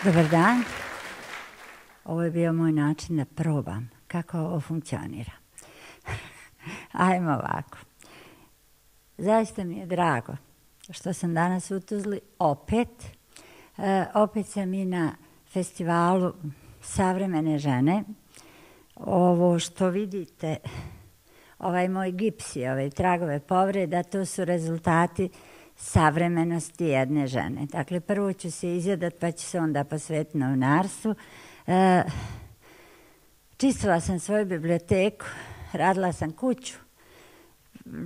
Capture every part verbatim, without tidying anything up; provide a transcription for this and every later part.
Dobar dan. Ovo je bio moj način da probam kako ovo funkcionira. Ajmo ovako. Zaista mi je drago što sam danas u Tuzli opet. E, opet sam i na festivalu Savremene žene. Ovo što vidite, ovaj moj gips i ove tragove povreda, to su rezultati savremenosti jedne žene. Dakle, prvo ću se izjadat, pa ću se onda posvetiti novinarstvu. E, čistila sam svoju biblioteku, radila sam kuću.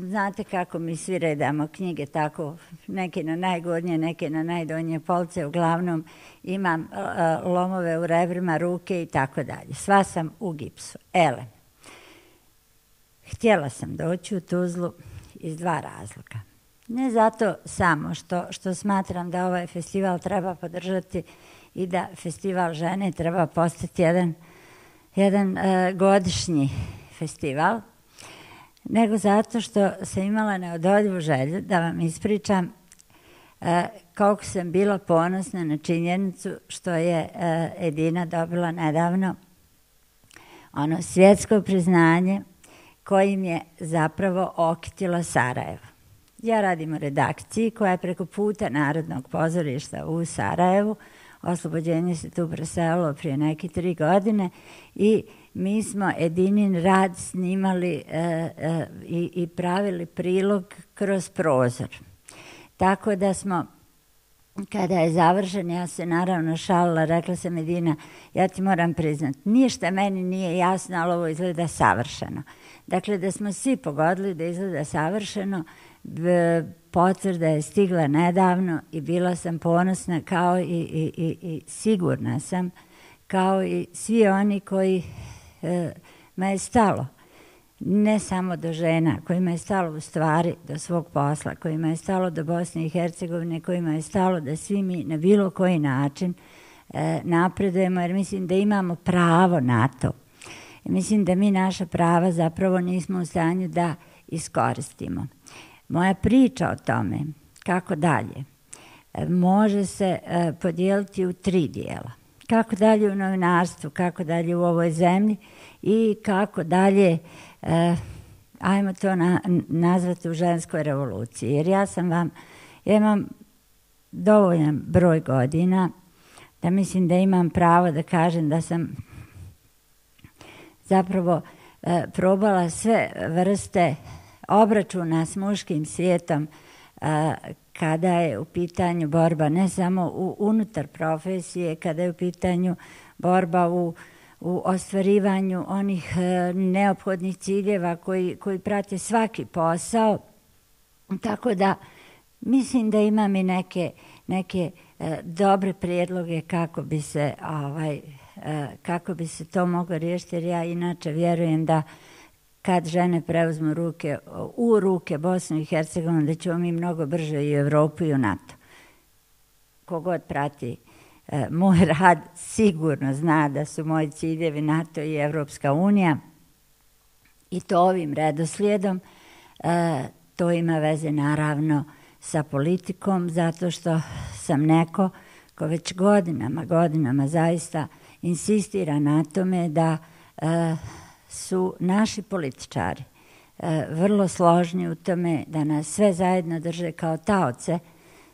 Znate kako mi svi redamo knjige, tako neke na najgornje, neke na najdonje polce. Uglavnom imam e, lomove u rebrima, ruke i tako dalje. Sva sam u gipsu. Ele, htjela sam doći u Tuzlu iz dva razloga. Ne zato samo što, što smatram da ovaj festival treba podržati i da festival žene treba postati jedan, jedan uh, godišnji festival, nego zato što sam imala neodoljivu želju da vam ispričam uh, koliko sam bila ponosna na činjenicu što je uh, Edina dobila nedavno ono svjetsko priznanje kojim je zapravo okitilo Sarajevo. Ja radim u redakciji koja je preko puta Narodnog pozorišta u Sarajevu. Oslobođenje se tu preselilo prije neke tri godine i mi smo Edinin rad snimali e, e, i, i pravili prilog kroz prozor. Tako da smo, kada je završen, ja se naravno šalila, rekla sam Edina, ja ti moram priznat, ništa meni nije jasno, ali ovo izgleda savršeno. Dakle, da smo svi pogodili da izgleda savršeno, potvrda je stigla nedavno i bila sam ponosna kao i, i, i, i sigurna sam kao i svi oni koji e, me je stalo, ne samo do žena, kojima je stalo u stvari do svog posla, kojima je stalo do Bosne i Hercegovine, kojima je stalo da svi mi na bilo koji način e, napredujemo, jer mislim da imamo pravo na to. Mislim da mi naša prava zapravo nismo u stanju da iskoristimo. Moja priča o tome, kako dalje, može se podijeliti u tri dijela. Kako dalje u novinarstvu, kako dalje u ovoj zemlji i kako dalje, ajmo to na, nazvati u ženskoj revoluciji. Jer ja sam vam, ja imam dovoljan broj godina da mislim da imam pravo da kažem da sam zapravo probala sve vrste obračuna s muškim svijetom a, kada je u pitanju borba ne samo u, unutar profesije, kada je u pitanju borba u, u ostvarivanju onih a, neophodnih ciljeva koji, koji prate svaki posao. Tako da mislim da imam i neke, neke a, dobre prijedloge kako bi se, ovaj, a, kako bi se to moglo riješiti, jer ja inače vjerujem da kad žene preuzmu ruke, u ruke Bosnu i Hercegovinu, da ćemo mi mnogo brže i u Evropu i u NATO. Kogod prati e, moj rad sigurno zna da su moji ciljevi NATO i Evropska unija i to ovim redoslijedom. E, to ima veze naravno sa politikom, zato što sam neko ko već godinama, godinama zaista insistira na tome da e, su naši političari e, vrlo složni u tome da nas sve zajedno drže kao taoce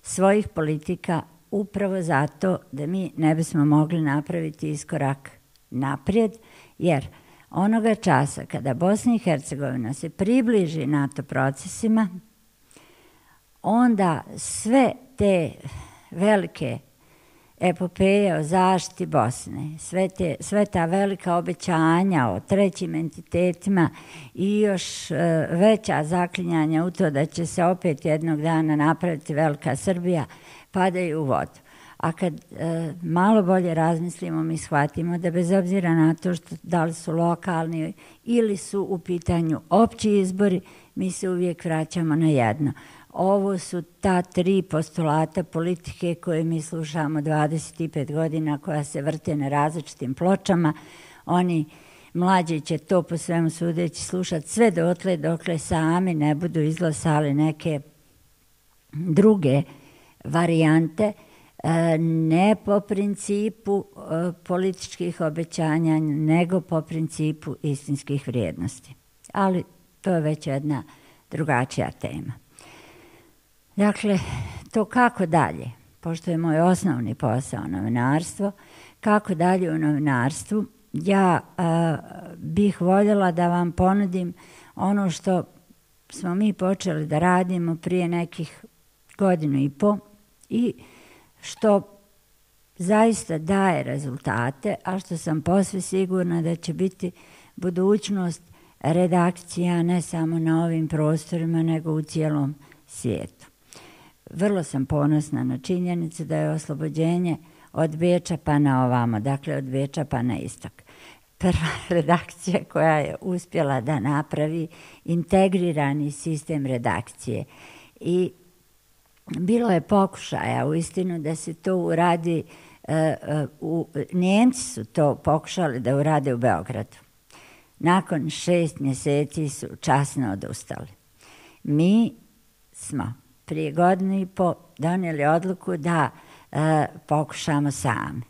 svojih politika upravo zato da mi ne bismo mogli napraviti iskorak naprijed, jer onoga časa kada Bosna i Hercegovina se približi NATO procesima, onda sve te velike epopeje o zaštiti Bosne, sve, te, sve ta velika obećanja o trećim entitetima i još e, veća zaklinjanja u to da će se opet jednog dana napraviti velika Srbija, padaju u vodu. A kad e, malo bolje razmislimo, mi shvatimo da bez obzira na to što da li su lokalni ili su u pitanju opći izbori, mi se uvijek vraćamo na jedno. Ovo su ta tri postulata politike koje mi slušamo dvadeset pet godina, koja se vrte na različitim pločama. Oni mlađi će to po svemu sudeći slušati sve dotle dokle sami ne budu izglasali neke druge varijante. ne po principu političkih obećanja, nego po principu istinskih vrijednosti. Ali to je već jedna drugačija tema. Dakle, to kako dalje, pošto je moj osnovni posao novinarstvo, kako dalje u novinarstvu, ja a, bih voljela da vam ponudim ono što smo mi počeli da radimo prije nekih godinu i po i što zaista daje rezultate, a što sam posve sigurna da će biti budućnost redakcija ne samo na ovim prostorima, nego u cijelom svijetu. Vrlo sam ponosna na činjenicu da je oslobođenje od Beča pa na ovamo, dakle od Beča pa na istok. Prva redakcija koja je uspjela da napravi integrirani sistem redakcije. I bilo je pokušaja uistinu da se to uradi, uh, uh, u, Njemci su to pokušali da urade u Beogradu. Nakon šest mjeseci su časno odustali. Mi smo prije godinu i po donijeli odluku da uh, pokušamo sami.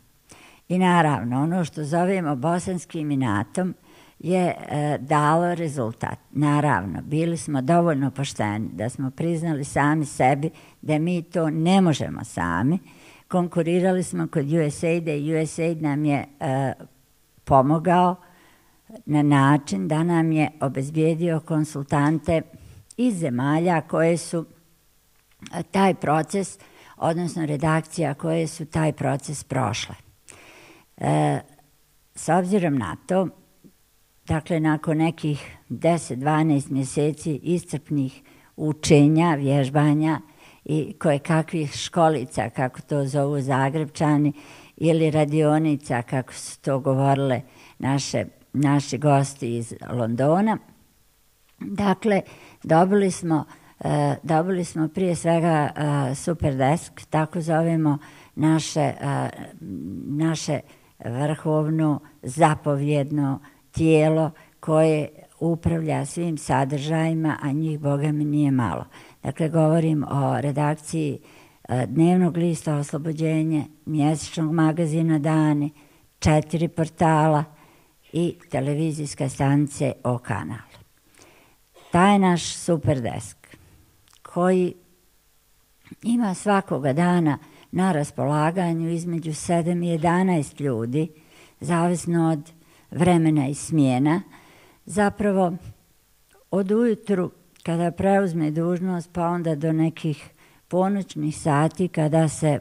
I naravno, ono što zovemo bosanskim inatom je e, dalo rezultat. Naravno, bili smo dovoljno pošteni da smo priznali sami sebi da mi to ne možemo sami. Konkurirali smo kod U S A I D-a i U S A I D nam je e, pomogao na način da nam je obezbijedio konsultante iz zemalja koje su taj proces, odnosno redakcija koje su taj proces prošle. E, s obzirom na to, dakle, nakon nekih deset do dvanaest mjeseci iscrpnih učenja, vježbanja i koje kakvih školica, kako to zovu Zagrebčani, ili radionica, kako su to govorile naše, naši gosti iz Londona, dakle, dobili smo, e, dobili smo prije svega e, Superdesk, tako zovemo naše, e, naše vrhovno zapovjedno tijelo koje upravlja svim sadržajima, a njih, Boga mi, nije malo. Dakle, govorim o redakciji dnevnog lista Oslobođenje, mjesečnog magazina Dani, četiri portala i televizijska stanice O kanal. Taj naš Superdesk, koji ima svakoga dana na raspolaganju između sedam i jedanaest ljudi, zavisno od vremena i smjena, zapravo od ujutru kada preuzme dužnost pa onda do nekih ponoćnih sati kada se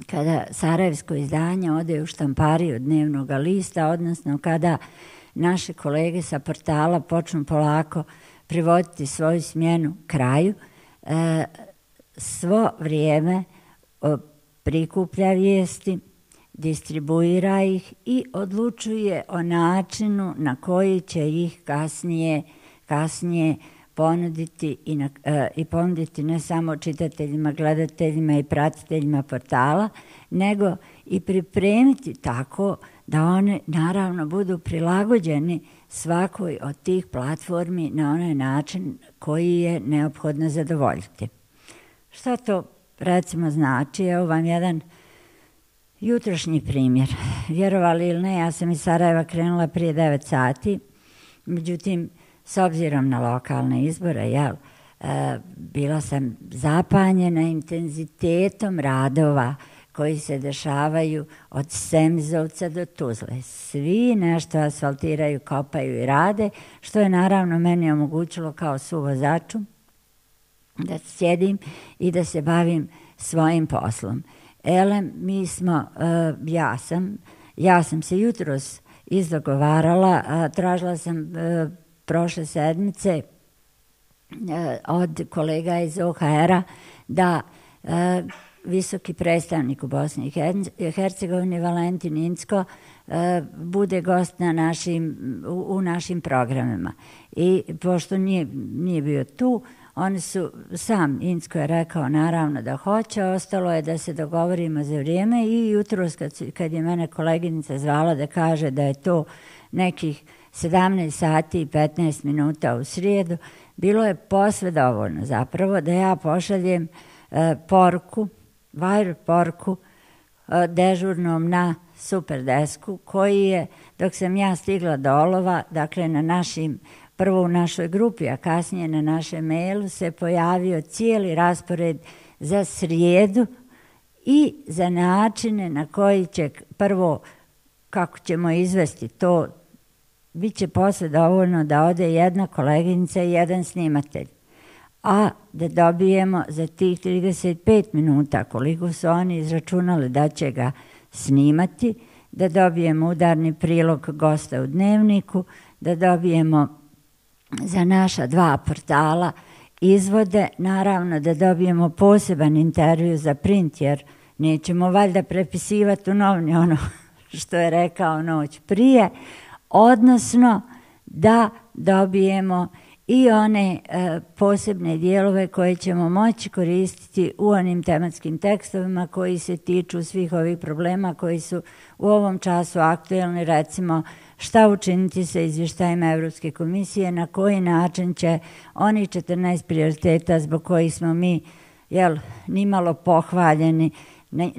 kada sarajevsko izdanje ode u štampariju dnevnog lista, odnosno kada naše kolege sa portala počnu polako privoditi svoju smjenu kraju, e, svo vrijeme prikuplja vijesti, distribuira ih i odlučuje o načinu na koji će ih kasnije, kasnije ponuditi i, na, e, i ponuditi ne samo čitateljima, gledateljima i pratiteljima portala, nego i pripremiti tako da one naravno budu prilagođeni svakoj od tih platformi na onaj način koji je neophodno zadovoljiti. Šta to recimo znači? Evo vam jedan jutrošnji primjer. Vjerovali ili ne, ja sam iz Sarajeva krenula prije devet sati, međutim, s obzirom na lokalne izbore, jel, e, bila sam zapanjena intenzitetom radova koji se dešavaju od Semizovca do Tuzle. Svi nešto asfaltiraju, kopaju i rade, što je naravno meni omogućilo kao suvozaču da sjedim i da se bavim svojim poslom. Elem, mi smo, uh, ja sam, ja sam se jutros izdogovarala, uh, tražila sam uh, prošle sedmice uh, od kolega iz O H R-a da uh, visoki predstavnik u Bosni i Hercegovini Valentin Incko uh, bude gost na našim, u, u našim programima. I pošto nije, nije bio tu, oni su, sam Incko je rekao naravno da hoće, ostalo je da se dogovorimo za vrijeme i jutros kad, kad je mene koleginica zvala da kaže da je to nekih sedamnaest sati i petnaest minuta u srijedu, bilo je posve dovoljno zapravo da ja pošaljem e, poruku Vajru Porku, dežurnom na Superdesku, koji je, dok sam ja stigla do olova, dakle na našim, prvo u našoj grupi, a kasnije na našem mailu, se pojavio cijeli raspored za srijedu i za načine na koji će prvo, kako ćemo izvesti to, bit će posle dovoljno da ode jedna koleginica i jedan snimatelj. A da dobijemo za tih trideset pet minuta, koliko su oni izračunali da će ga snimati, da dobijemo udarni prilog gosta u dnevniku, da dobijemo za naša dva portala izvode, naravno da dobijemo poseban intervju za print, jer nećemo valjda prepisivati u novini ono što je rekao noć prije, odnosno da dobijemo i one e, posebne dijelove koje ćemo moći koristiti u onim tematskim tekstovima koji se tiču svih ovih problema koji su u ovom času aktuelni, recimo šta učiniti sa izvještajima Evropske komisije, na koji način će oni četrnaest prioriteta zbog kojih smo mi jel, nimalo pohvaljeni, ne,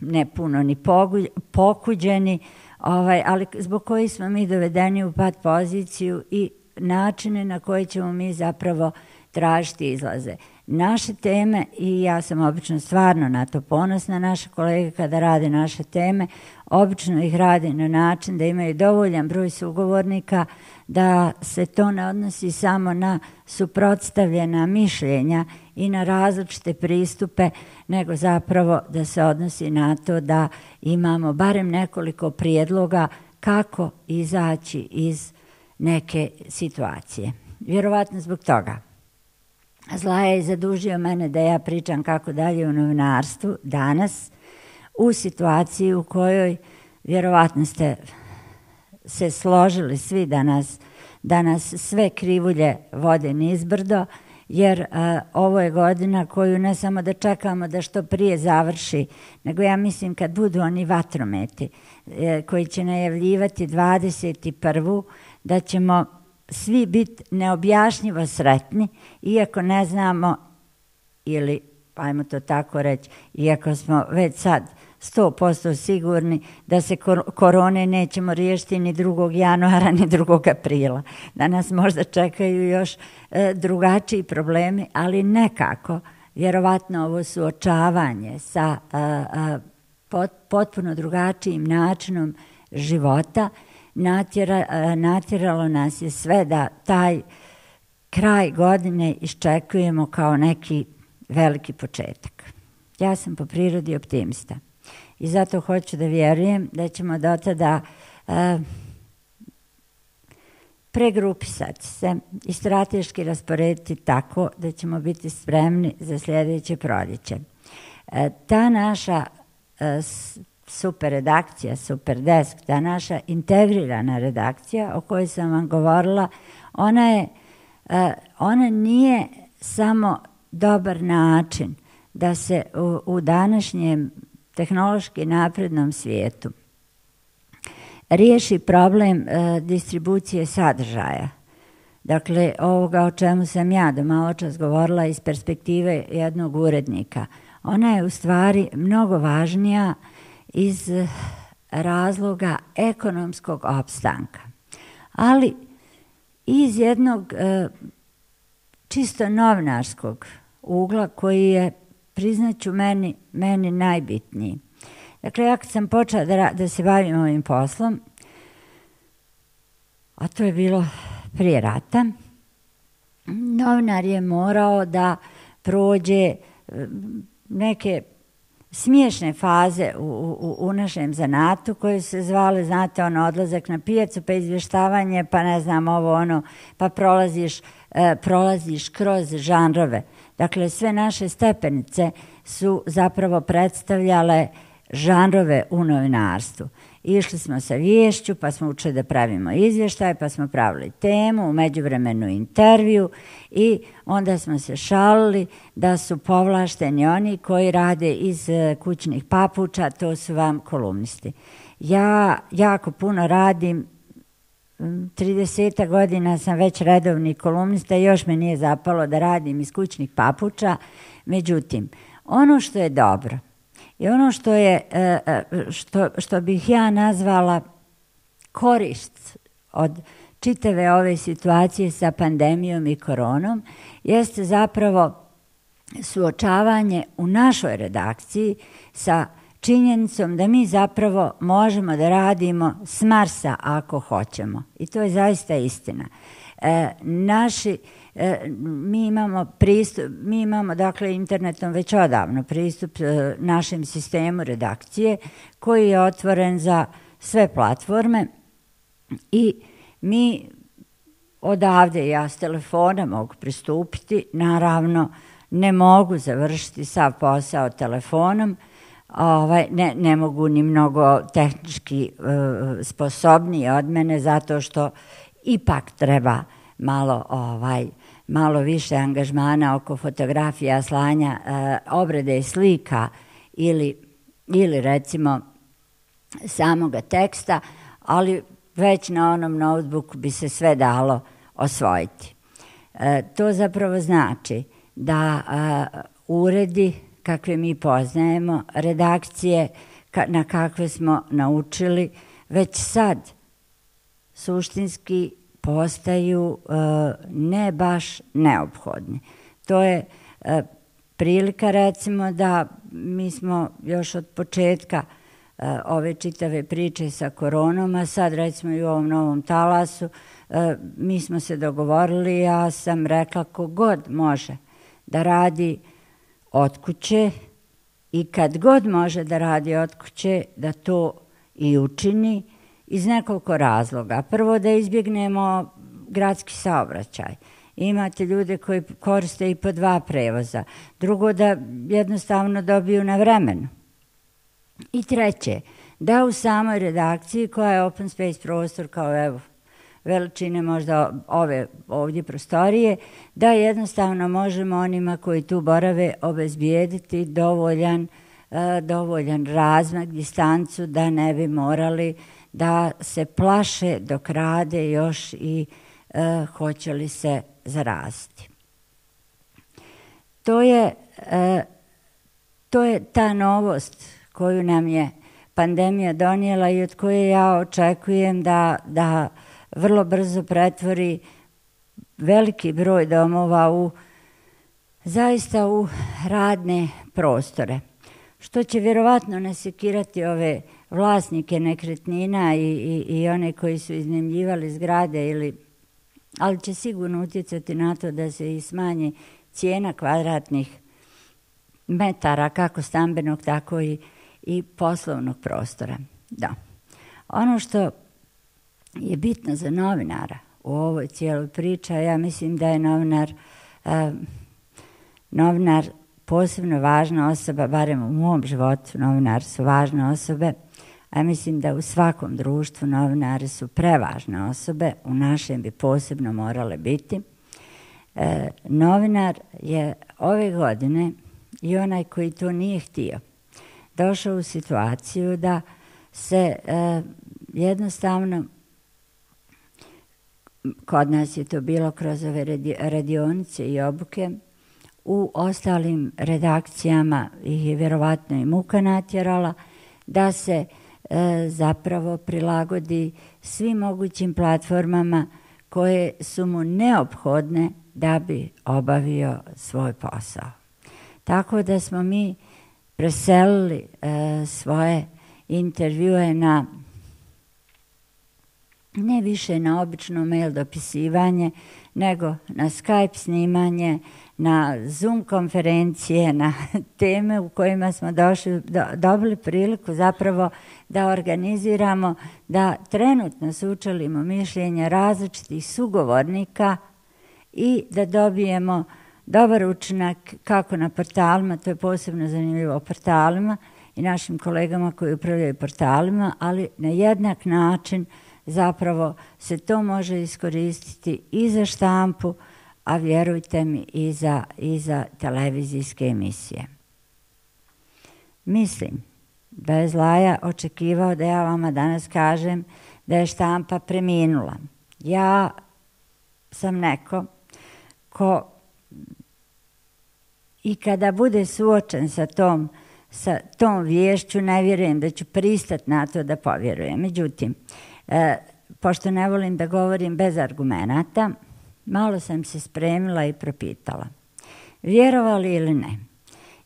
ne puno ni pogu, pokuđeni, ovaj, ali zbog kojih smo mi dovedeni u pad poziciju i načine na koje ćemo mi zapravo tražiti izlaze. Naše teme, i ja sam obično stvarno na to ponosna, naše kolege kada rade naše teme, obično ih rade na način da imaju dovoljan broj sugovornika, da se to ne odnosi samo na suprotstavljena mišljenja i na različite pristupe, nego zapravo da se odnosi na to da imamo barem nekoliko prijedloga kako izaći iz neke situacije. Vjerovatno zbog toga. Zlaja je zadužio mene da ja pričam kako dalje u novinarstvu danas u situaciji u kojoj vjerovatno ste se složili svi da nas, da nas sve krivulje vode nizbrdo, jer a, ovo je godina koju ne samo da čekamo da što prije završi, nego ja mislim kad budu oni vatrometi e, koji će najavljivati dvadeset prvu da ćemo svi biti neobjašnjivo sretni, iako ne znamo, ili, ajmo to tako reći, iako smo već sad sto posto sigurni da se korone nećemo riješiti ni drugog januara, ni drugog aprila. Da nas možda čekaju još e, drugačiji problemi, ali nekako, vjerovatno ovo suočavanje sa a, a, pot, potpuno drugačijim načinom života natjera, a, natjeralo nas je sve da taj kraj godine iščekujemo kao neki veliki početak. Ja sam po prirodi optimista. I zato hoću da vjerujem da ćemo do tada uh, pregrupisati se i strateški rasporediti tako da ćemo biti spremni za sljedeće proljeće. Uh, ta naša uh, super redakcija, Superdesk, ta naša integrirana redakcija o kojoj sam vam govorila, ona, je, uh, ona nije samo dobar način da se u, u današnjem tehnološki naprednom svijetu riješi problem e, distribucije sadržaja. Dakle, ovoga o čemu sam ja do malo čas govorila iz perspektive jednog urednika. Ona je u stvari mnogo važnija iz razloga ekonomskog opstanka. Ali iz jednog e, čisto novinarskog ugla koji je, priznaću, meni, meni najbitniji. Dakle, ja kad sam počela da, da se bavim ovim poslom, a to je bilo prije rata, novinar je morao da prođe neke smiješne faze u, u, u našem zanatu koje se zvale, znate, ono, odlazak na pijacu, pa izvještavanje, pa ne znam, ovo ono, pa prolaziš, e, prolaziš kroz žanrove. Dakle, sve naše stepenice su zapravo predstavljale žanrove u novinarstvu. Išli smo sa viješću, pa smo učili da pravimo izvještaj, pa smo pravili temu, u međuvremenu intervju i onda smo se šalili da su povlašteni oni koji rade iz kućnih papuča, to su vam kolumnisti. Ja jako puno radim, trideset godina sam već redovni kolumnista i još me nije zapalo da radim iz kućnih papuča. Međutim, ono što je dobro i ono što je, što, što bih ja nazvala korist od čitave ove situacije sa pandemijom i koronom, jeste zapravo suočavanje u našoj redakciji sa činjenicom da mi zapravo možemo da radimo s Marsa ako hoćemo. I to je zaista istina. E, naši, e, mi imamo pristup, mi imamo dakle internetom već odavno pristup e, našem sistemu redakcije koji je otvoren za sve platforme i mi odavde, ja s telefona mogu pristupiti, naravno ne mogu završiti sav posao telefonom, ovaj, ne, ne mogu ni mnogo tehnički uh, sposobniji od mene zato što ipak treba malo, ovaj, malo više angažmana oko fotografija, slanja, uh, obrade slika ili, ili recimo samoga teksta, ali već na onom notebooku bi se sve dalo osvojiti. E, to zapravo znači da a, uredi kakve mi poznajemo, redakcije ka, na kakve smo naučili, već sad suštinski postaju a, ne baš neophodni. To je a, prilika recimo da mi smo još od početka ove čitave priče sa koronom, a sad recimo i u ovom novom talasu, mi smo se dogovorili, ja sam rekla kogod može da radi od kuće i kad god može da radi od kuće, da to i učini iz nekoliko razloga. Prvo da izbjegnemo gradski saobraćaj. Imate ljude koji koriste i po dva prevoza. Drugo da jednostavno dobiju na vremenu. I treće, da u samoj redakciji koja je open space prostor kao evo veličine možda ove ovdje prostorije, da jednostavno možemo onima koji tu borave obezbijediti dovoljan, uh, dovoljan razmak, distancu da ne bi morali da se plaše dok rade još i uh, hoće li se zaraziti. To je, uh, to je ta novost koju nam je pandemija donijela i od koje ja očekujem da, da vrlo brzo pretvori veliki broj domova u zaista u radne prostore. Što će vjerovatno nasekirati ove vlasnike nekretnina i, i, i one koji su iznajmljivali zgrade, ili, ali će sigurno utjecati na to da se i smanji cijena kvadratnih metara, kako stambenog, tako i i poslovnog prostora. Da. Ono što je bitno za novinara u ovoj cijeloj priči, ja mislim da je novinar, eh, novinar posebno važna osoba, barem u mom životu novinar su važne osobe, a mislim da u svakom društvu novinari su prevažne osobe, u našem bi posebno morale biti. Eh, novinar je ove godine i onaj koji to nije htio, došao u situaciju da se e, jednostavno, kod nas je to bilo kroz ove radionice i obuke, u ostalim redakcijama ih je vjerovatno i muka natjerala, da se e, zapravo prilagodi svim mogućim platformama koje su mu neophodne da bi obavio svoj posao. Tako da smo mi preselili e, svoje intervjue na ne više na obično mail dopisivanje, nego na Skype snimanje, na Zoom konferencije, na teme u kojima smo došli, do, dobili priliku zapravo da organiziramo, da trenutno sučelimo mišljenja različitih sugovornika i da dobijemo dobar učinak kako na portalima, to je posebno zanimljivo portalima i našim kolegama koji upravljaju portalima, ali na jednak način zapravo se to može iskoristiti i za štampu, a vjerujte mi i za, i za televizijske emisije. Mislim, bez laja očekivao da ja vama danas kažem da je štampa preminula. Ja sam neko ko i kada bude suočen sa tom, sa tom viješću, ne vjerujem da ću pristati na to da povjerujem. Međutim, e, pošto ne volim da govorim bez argumenata, malo sam se spremila i propitala. Vjerovali ili ne?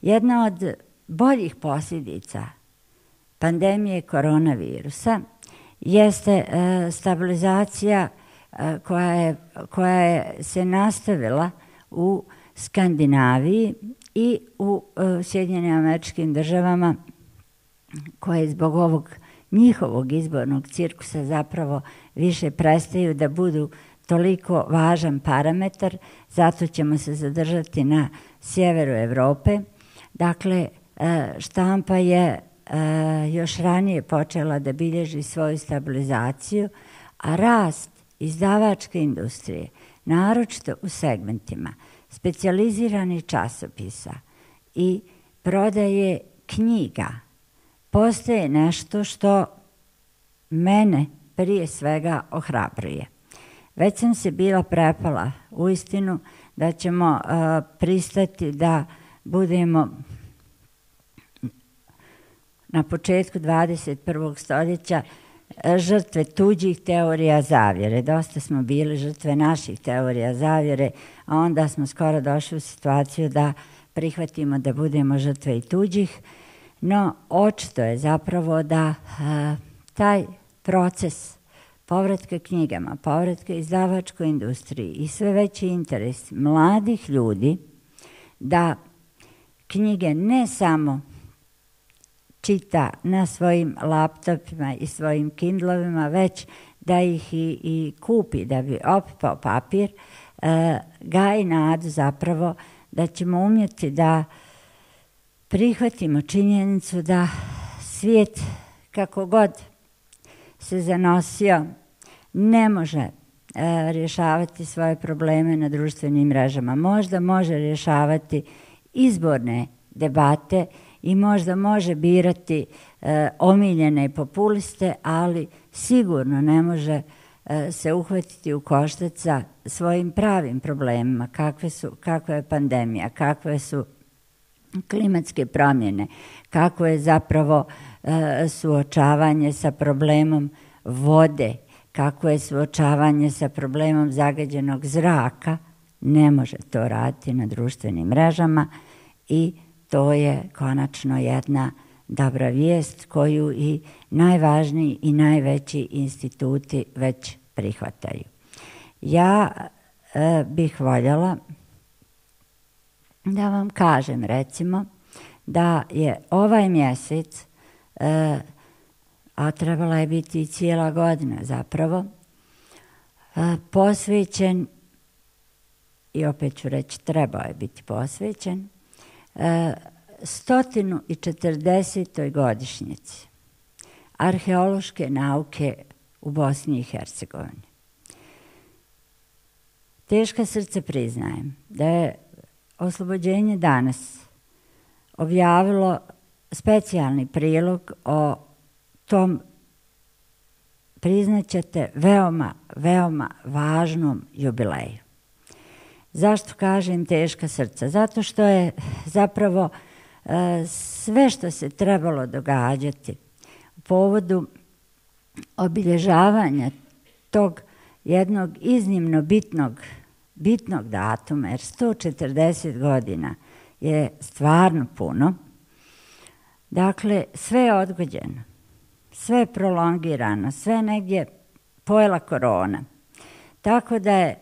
Jedna od boljih posljedica pandemije koronavirusa jeste e, stabilizacija e, koja, je, koja je se nastavila u Skandinaviji i u e, Sjedinjenim Američkim Državama, koje zbog ovog njihovog izbornog cirkusa zapravo više prestaju da budu toliko važan parametar, zato ćemo se zadržati na sjeveru Evrope. Dakle, štampa je još ranije počela da bilježi svoju stabilizaciju, a rast izdavačke industrije, naročito u segmentima specijaliziranih časopisa i prodaje knjiga, postaje nešto što mene prije svega ohrabruje. Već sam se bila prepala u istinu da ćemo uh, pristati da budemo na početku dvadeset prvog stoljeća žrtve tuđih teorija zavjere. Dosta smo bili žrtve naših teorija zavjere, a onda smo skoro došli u situaciju da prihvatimo da budemo žrtve i tuđih. No, očito je zapravo da uh, taj proces povratka knjigama, povratka izdavačkoj industriji i sve veći interes mladih ljudi da knjige ne samo čita na svojim laptopima i svojim Kindlovima, već da ih i, i kupi da bi opipao papir, e, gaji nadu zapravo da ćemo umjeti da prihvatimo činjenicu da svijet kako god se zanosio ne može e, rješavati svoje probleme na društvenim mrežama. Možda može rješavati izborne debate i možda može birati e, omiljene populiste, ali sigurno ne može e, se uhvatiti u koštac sa svojim pravim problemima, kakve su, kakva je pandemija, kakve su klimatske promjene, kako je zapravo e, suočavanje sa problemom vode, kako je suočavanje sa problemom zagađenog zraka. Ne može to raditi na društvenim mrežama i to je konačno jedna dobra vijest koju i najvažniji i najveći instituti već prihvataju. Ja e, bih voljela da vam kažem, recimo, da je ovaj mjesec, e, a trebala je biti i cijela godina zapravo, e, posvećen, i opet ću reći trebao je biti posvećen, e, stotinu i četrdesetoj godišnjici arheološke nauke u Bosni i Hercegovini. Teška srce priznajem da je Oslobođenje danas objavilo specijalni prilog o tom, priznaćete, veoma, veoma važnom jubileju. Zašto kažem teška srca? Zato što je zapravo e, sve što se trebalo događati u povodu obilježavanja tog jednog iznimno bitnog bitnog datuma, jer sto četrdeset godina je stvarno puno. Dakle, sve je odgođeno, sve je prolongirano, sve negdje pojela korona. Tako da je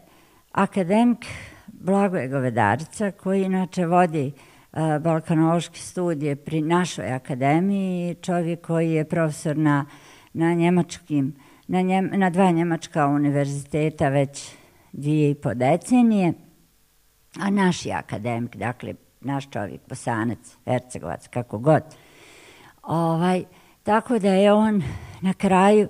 akademik Blagoje Govedarica, koji inače vodi uh, balkanološke studije pri našoj akademiji, čovjek koji je profesor na, na, njemačkim, na, njem, na dva njemačka univerziteta već dvije i po decenije, a naš je akademik, dakle, naš čovjek, Bosanac, Hercegovac, kako god. Ovaj, tako da je on na kraju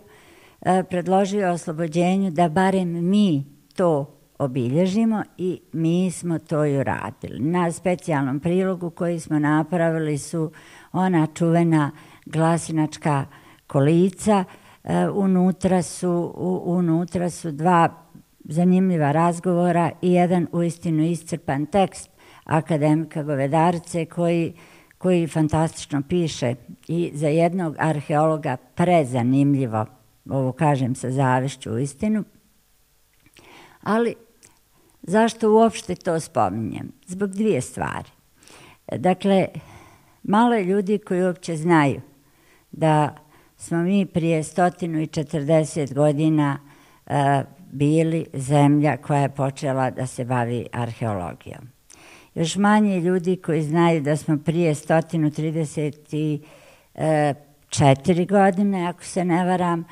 e, predložio Oslobođenju da barem mi to obilježimo i mi smo to i uradili. Na specijalnom prilogu koji smo napravili su ona čuvena glasinačka kolica, e, unutra, su, u, unutra su dva zanimljiva razgovora i jedan uistinu iscrpan tekst, akademika Govedarce koji, koji fantastično piše i za jednog arheologa prezanimljivo, ovo kažem sa zavišću u istinu, ali zašto uopšte to spominjem? Zbog dvije stvari. Dakle, malo je ljudi koji uopće znaju da smo mi prije stotinu i četrdeset godina uh, bili zemlja koja je počela da se bavi arheologijom. Još manje ljudi koji znaju da smo prije stotinu trideset četiri godine, ako se ne varam,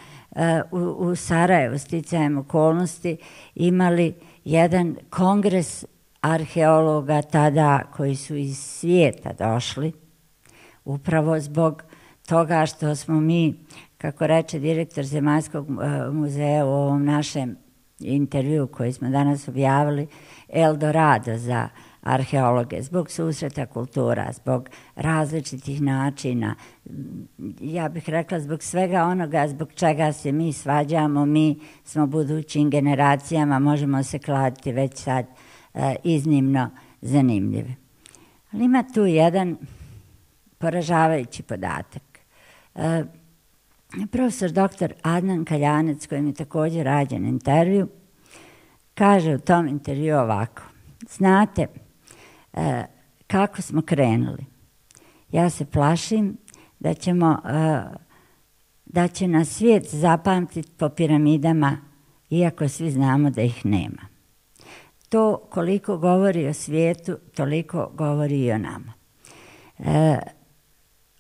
u, u Sarajevu sticajem okolnosti imali jedan kongres arheologa tada koji su iz svijeta došli, upravo zbog toga što smo mi, kako reče direktor Zemaljskog muzeja u ovom našem intervju koji smo danas objavili, Eldorado za arheologe, zbog susreta kultura, zbog različitih načina, ja bih rekla zbog svega onoga zbog čega se mi svađamo, mi smo budućim generacijama, možemo se kladiti već sad e, iznimno zanimljivi. Ali ima tu jedan poražavajući podatak. E, profesor doktor Adnan Kaljanec, kojim je također rađen intervju, kaže u tom intervju ovako: znate e, kako smo krenuli? Ja se plašim da ćemo, e, da će nas svijet zapamtiti po piramidama, iako svi znamo da ih nema. To koliko govori o svijetu, toliko govori i o nama. E,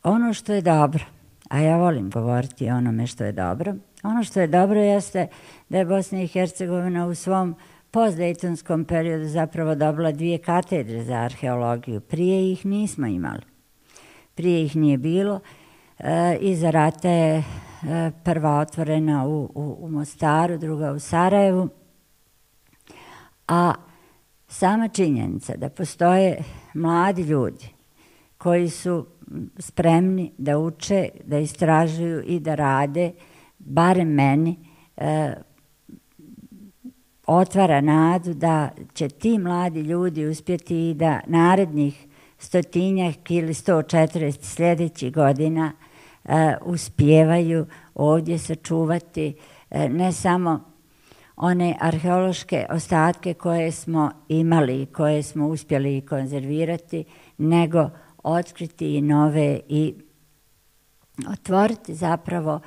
ono što je dobro, a ja volim govoriti o onome što je dobro, ono što je dobro jeste da je Bosna i Hercegovina u svom postdejtonskom periodu zapravo dobila dvije katedre za arheologiju. Prije ih nismo imali. Prije ih nije bilo. E, iza rata je e, prva otvorena u, u, u Mostaru, druga u Sarajevu. A sama činjenica da postoje mladi ljudi koji su spremni da uče, da istražuju i da rade, barem meni, e, otvara nadu da će ti mladi ljudi uspjeti i da narednih stotinjak ili sto četrdeset sljedećih godina e, uspijevaju ovdje sačuvati e, ne samo one arheološke ostatke koje smo imali i koje smo uspjeli konzervirati, nego otkriti i nove i otvoriti zapravo,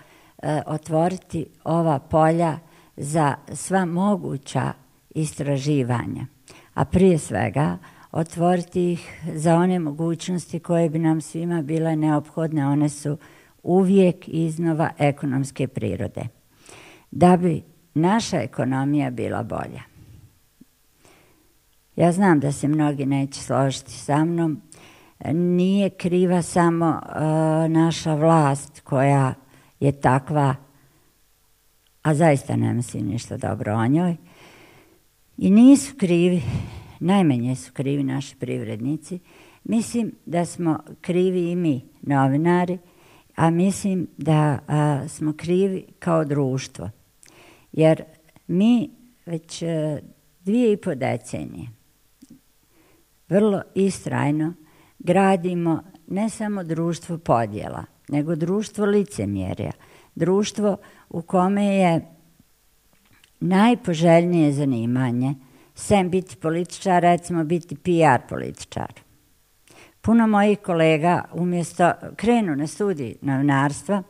e, otvoriti ova polja za sva moguća istraživanja, a prije svega otvoriti ih za one mogućnosti koje bi nam svima bile neophodne. One su uvijek iznova ekonomske prirode. Da bi naša ekonomija bila bolja. Ja znam da se mnogi neće složiti sa mnom. Nije kriva samo uh, naša vlast koja je takva, a zaista ne mislim ništa dobro o njoj. I nisu krivi, najmanje su krivi naši privrednici. Mislim da smo krivi i mi, novinari, a mislim da a, smo krivi kao društvo. Jer mi već a, dvije i po decenije vrlo istrajno gradimo ne samo društvo podjela, nego društvo licemjerja. Društvo u kome je najpoželjnije zanimanje, sem biti političar, recimo biti P R političar. Puno mojih kolega umjesto krenu na studij novinarstva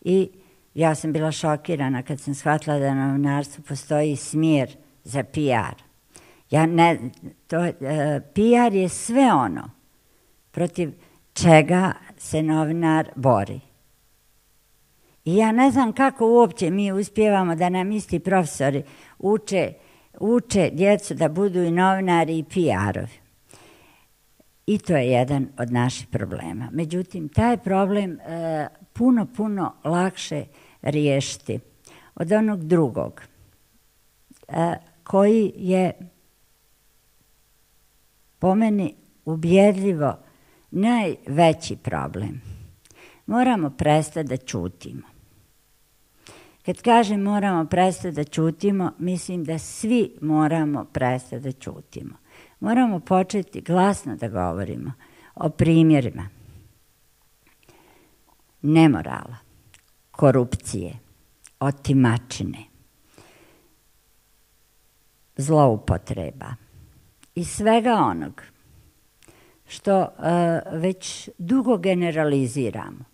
i ja sam bila šokirana kad sam shvatila da na novinarstvu postoji smjer za P R. Ja ne, to, uh, P R je sve ono protiv čega se novinar bori. I ja ne znam kako uopće mi uspijevamo da nam isti profesori uče, uče djecu da budu i novinari i P R-ovi. I to je jedan od naših problema. Međutim, taj problem e, puno, puno lakše riješiti od onog drugog, e, koji je po meni ubjedljivo najveći problem. Moramo prestati da ćutimo. Kad kažem moramo prestati da ćutimo, mislim da svi moramo prestati da ćutimo. moramo početi glasno da govorimo o primjerima nemorala, korupcije, otimačine, zloupotreba i svega onog što uh, već dugo generaliziramo.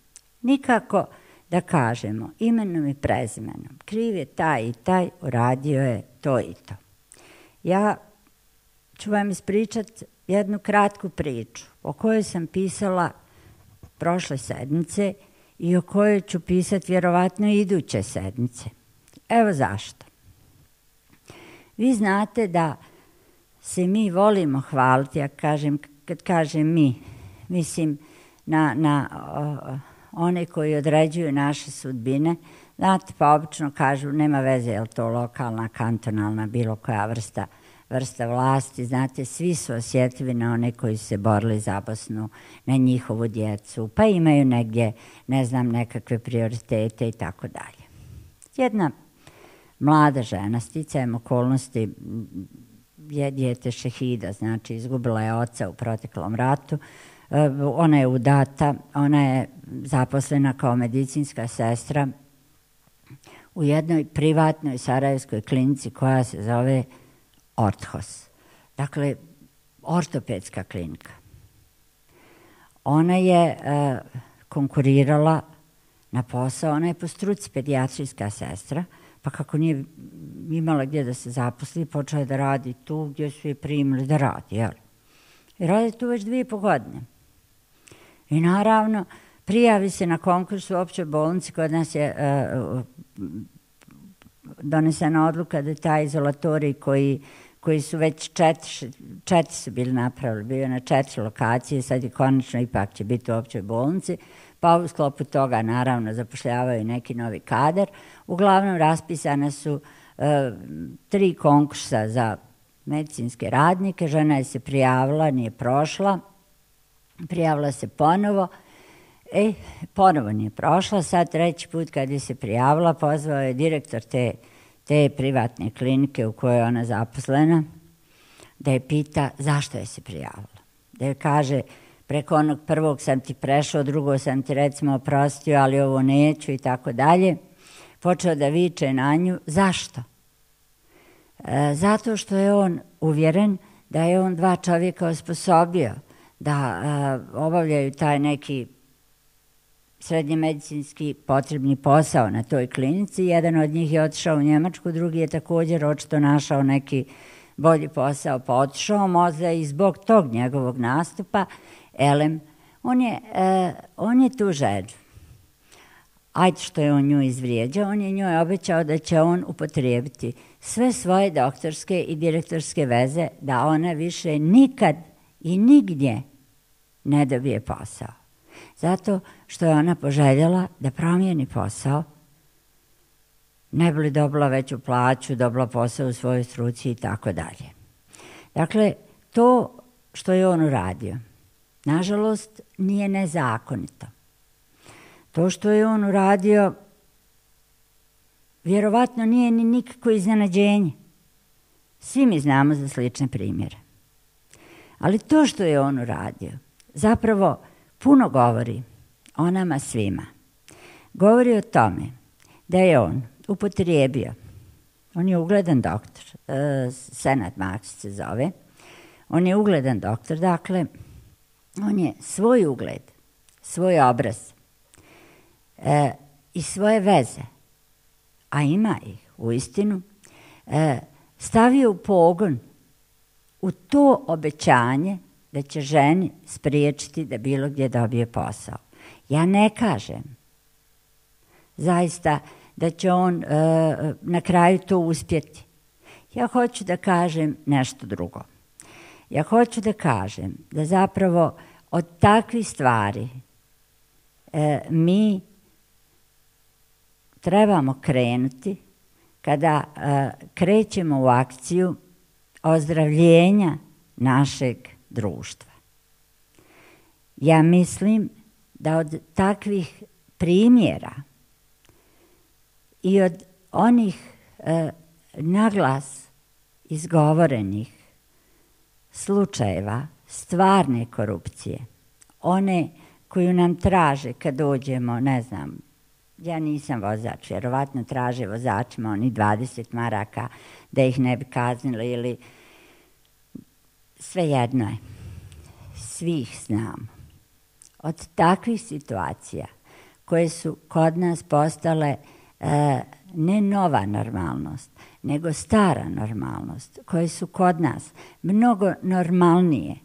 Nikako da kažemo imenom i prezimenom. Kriv je taj i taj, uradio je to i to. Ja ću vam ispričati jednu kratku priču o kojoj sam pisala prošle sedmice i o kojoj ću pisati vjerovatno iduće sedmice. Evo zašto. Vi znate da se mi volimo hvaliti, ja kažem, kad kažem mi, mislim na, na o, one koji određuju naše sudbine. Znate, pa obično kažu, nema veze, je li to lokalna, kantonalna, bilo koja vrsta, vrsta vlasti. Znate, svi su osjetljivi na one koji su se borili za Bosnu, na njihovu djecu, pa imaju negdje, ne znam, nekakve prioritete i tako dalje. Jedna mlada žena, sticajem okolnosti, je dijete šehida, znači izgubila je oca u proteklom ratu. Ona je udata, ona je zaposlena kao medicinska sestra u jednoj privatnoj sarajevskoj klinici koja se zove Orthos. Dakle, ortopedska klinika. Ona je e, konkurirala na posao, ona je po struci pedijatrijska sestra, pa kako nije imala gdje da se zaposli, počela da radi tu gdje su je primili da radi, jel? I radi tu već dvije i po godine. I naravno, prijavi se na konkurs u općoj bolnici, kod nas je uh, donesena odluka da taj izolatorij koji, koji su već četiri, četiri su bili napravili, bio je na četiri lokacije, sad je konačno ipak će biti u općoj bolnici, pa u sklopu toga naravno zapošljavaju neki novi kadar. Uglavnom raspisane su uh, tri konkursa za medicinske radnike, žena je se prijavila, nije prošla, prijavila se ponovo, e, ponovo nije prošla, sad treći put kad je se prijavila, pozvao je direktor te, te privatne klinike u kojoj je ona zaposlena, da je pita zašto je se prijavila. Da je kaže, preko onog prvog sam ti prešao, drugo sam ti recimo oprostio, ali ovo neću i tako dalje. Počeo da viče na nju, zašto? E, zato što je on uvjeren da je on dva čovjeka osposobio da e, obavljaju taj neki srednje medicinski potrebni posao na toj klinici. Jedan od njih je otišao u Njemačku, drugi je također očito našao neki bolji posao, pa otišao, možda i zbog tog njegovog nastupa, elem, on je, e, on je tu ženu. Ajde što je on nju izvrijeđao, on je njoj obećao da će on upotrijebiti sve svoje doktorske i direktorske veze da ona više nikad i nigdje ne dobije posao. Zato što je ona poželjela da promijeni posao, ne bi li dobila veću plaću, dobila posao u svojoj struci i tako dalje. Dakle, to što je on uradio, nažalost, nije nezakonito. To što je on uradio, vjerovatno nije ni nikako iznenađenje. Svi mi znamo za slične primjere. Ali to što je on uradio, zapravo puno govori o nama svima. Govori o tome da je on upotrijebio, on je ugledan doktor, uh, Senad Maksić se zove, on je ugledan doktor, dakle, on je svoj ugled, svoj obraz e, i svoje veze, a ima ih u istinu, e, stavio u pogon u to obećanje da će ženi spriječiti da bilo gdje dobije posao. Ja ne kažem zaista da će on e, na kraju to uspjeti. Ja hoću da kažem nešto drugo. Ja hoću da kažem da zapravo od takvih stvari e, mi trebamo krenuti kada e, krećemo u akciju ozdravljenja našeg društva. Ja mislim da od takvih primjera i od onih e, naglas izgovorenih slučajeva stvarne korupcije, one koju nam traže kad dođemo, ne znam, ja nisam vozač, vjerovatno traže vozačima oni dvadeset maraka da ih ne bi kaznili ili svejedno je. Svih znamo. Od takvih situacija koje su kod nas postale e, ne nova normalnost, nego stara normalnost, koje su kod nas mnogo normalnije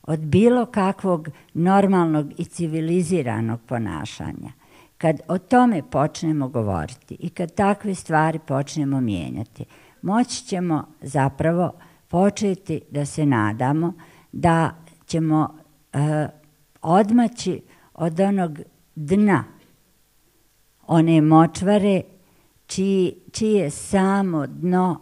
od bilo kakvog normalnog i civiliziranog ponašanja. Kad o tome počnemo govoriti i kad takve stvari počnemo mijenjati, moći ćemo zapravo početi da se nadamo da ćemo e, odmaći od onog dna, one močvare čiji, čije samo dno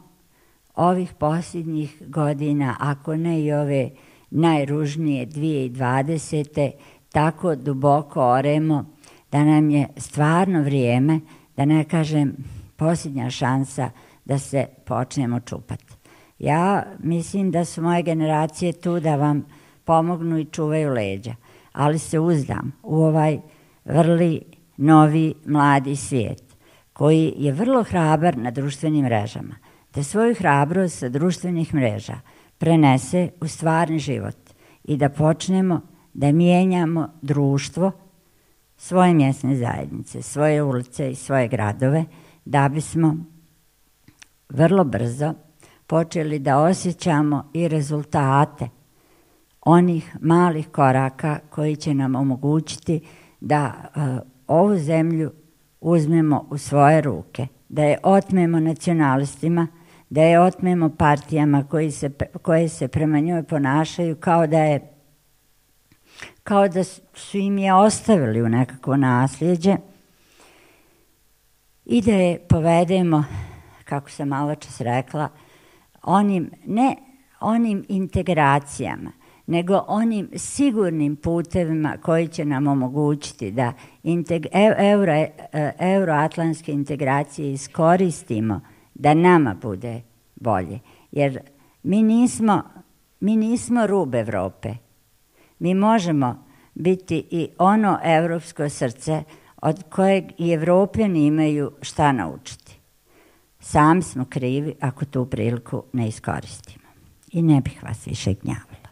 ovih posljednjih godina, ako ne i ove najružnije dvije tisuće dvadesete tako duboko oremo da nam je stvarno vrijeme, da ne kažem posljednja šansa da se počnemo čupati. Ja mislim da su moje generacije tu da vam pomognu i čuvaju leđa, ali se uzdam u ovaj vrli novi mladi svijet koji je vrlo hrabar na društvenim mrežama, da svoju hrabrost sa društvenih mreža prenese u stvarni život i da počnemo da mijenjamo društvo, svoje mjesne zajednice, svoje ulice i svoje gradove, da bismo vrlo brzo počeli da osjećamo i rezultate onih malih koraka koji će nam omogućiti da uh, ovu zemlju uzmemo u svoje ruke, da je otmemo nacionalistima, da je otmemo partijama koji se, koje se prema njoj ponašaju kao da je kao da su im je ostavili u nekakvo nasljeđe i da je povedemo, kako sam malo čas rekla, onim, ne onim integracijama, nego onim sigurnim putevima koji će nam omogućiti da integ, euro, euroatlantske integracije iskoristimo da nama bude bolje. Jer mi nismo, mi nismo rub Evrope. Mi možemo biti i ono evropsko srce od kojeg i Evropljani imaju šta naučiti. Sami smo krivi ako tu priliku ne iskoristimo. I ne bih vas više gnjavila.